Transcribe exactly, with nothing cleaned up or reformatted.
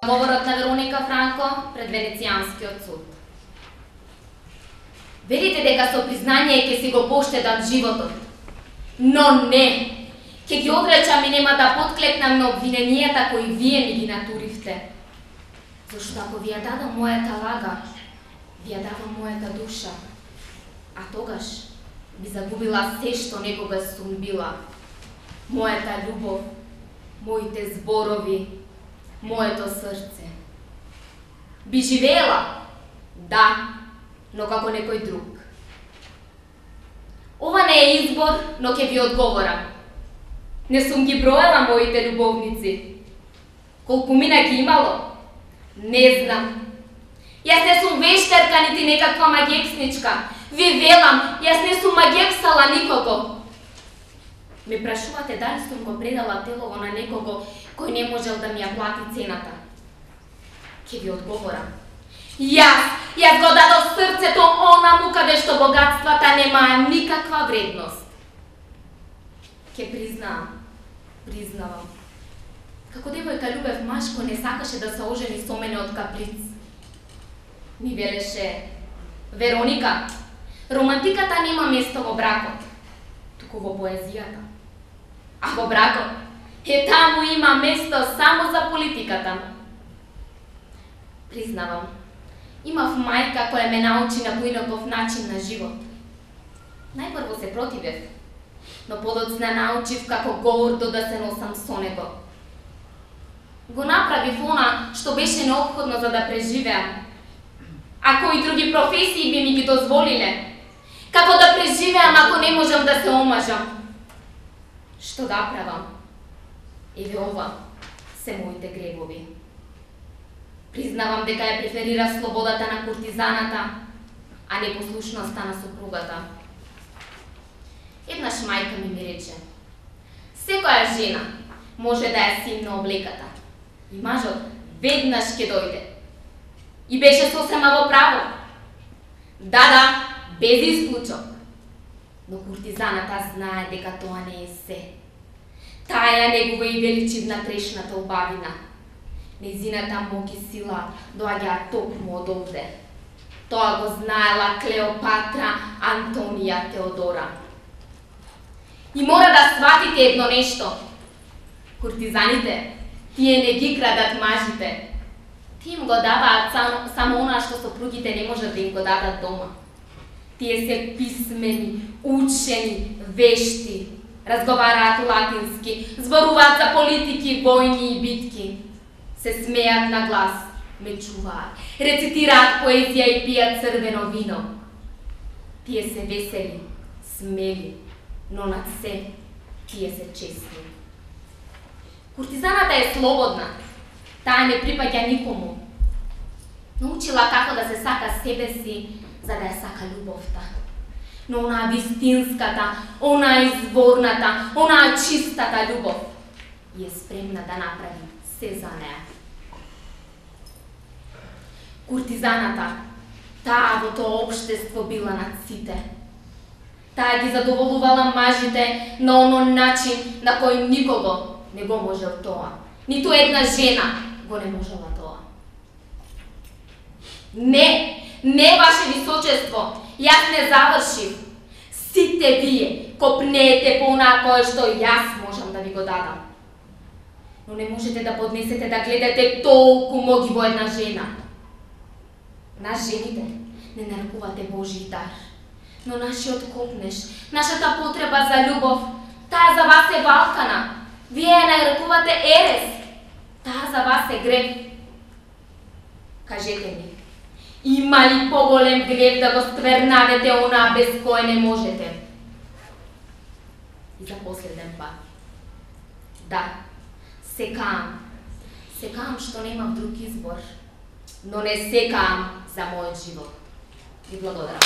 Говорот на Вероника Франко пред Венецијанскиот суд. Верите дека со признание ќе си го поштедам животот, но не, ќе ги одречам и нема да подклекнам на обвиненијата кои вие ми ги натуривте. Зашто ако ви ја дадам мојата лага, ви ја давам мојата душа, а тогаш би загубила се што некогаш сум била. Мојата љубов, моите зборови, моето срце. Би живеела, да, но како некој друг. Ова не е избор, но ќе ви одговорам. Не сум ги броела моите љубовници. Колку мина ги имало? Не знам. Јас не сум вештерка, нити некаква магексничка. Ви велам, јас не сум магексала никого. Ме прашувате дали сум го предала телово на некого кој не можел да ми ја плати цената. Ќе ви одговорам. Јас, јас го дадов срцето онаму каде што богатствата немаа никаква вредност. Ќе признавам, признавам. Како девојка Љубев Машко не сакаше да се ожени со мене од каприц. Ми велеше: Вероника, романтиката нема место во бракот, туку во поезијата. А во бракот, е таму има место само за политиката. Признавам, имав мајка која ме научи на поинаков начин на живот. Најпрво се противев, но подоцна научив како гордо да се носам со него. Го направив она што беше неопходно за да преживеам. А кои други професии би ми ги дозволиле? Како да преживеам ако не можам да се омажам? Што да правам? Еве ова се моите гребови. Признавам дека ја преферира слободата на куртизаната, а не послушноста на супругата. Еднаш мајка ми ми рече: секоја жена може да ја симне облеката и мажот веднаш ќе дојде. И беше сосема во право. Да, да, без исклучок. Но куртизаната знае дека тоа не е се. Таа ја негува и величивна трешната убавина. Нејзината мок и сила доаѓаат токму од овде. Тоа го знаела Клеопатра Антонија Теодора. И мора да сватите едно нешто. Куртизаните, тие не ги крадат мажите. Тие им го даваат само, само она што сопругите не можат да им го дадат дома. Тие се писмени, учени, вешти, разговараат латински, зборуваат за политики, војни и битки, се смеат на глас, мечуваат, рецитираат поезија и пијат црвено вино. Тие се весели, смели, но над се тие се честни. Куртизаната е слободна, таа не припаѓа никому. Научила како да се сака себе си, за да ја сака љубовта. Но онаа вистинската, онаа изворната, онаа чистата љубов е спремна да направи се за неа. Куртизаната, таа во тоа општество била над сите. Таа ги задоволувала мажите на онон начин на кој никого не го можел тоа. Ниту една жена го не можела тоа. Не, не, ваше височество, јас не завршив. Сите вие копнеете по онаа кое што јас можам да ви го дадам. Но не можете да поднесете да гледате толку моги во една жена. Нас жените не нарекувате Божи дар, но нашиот копнеш, нашата потреба за љубов, таа за вас е валкана. Вие ја нарекувате ерес, таа за вас е грев. Кажете ми, има ли поголем грев да го ствернадете онаа без кој не можете? И за последен пат. Да, секаам, секаам што немам друг избор, но не секаам за мојот живот. Ви благодарам.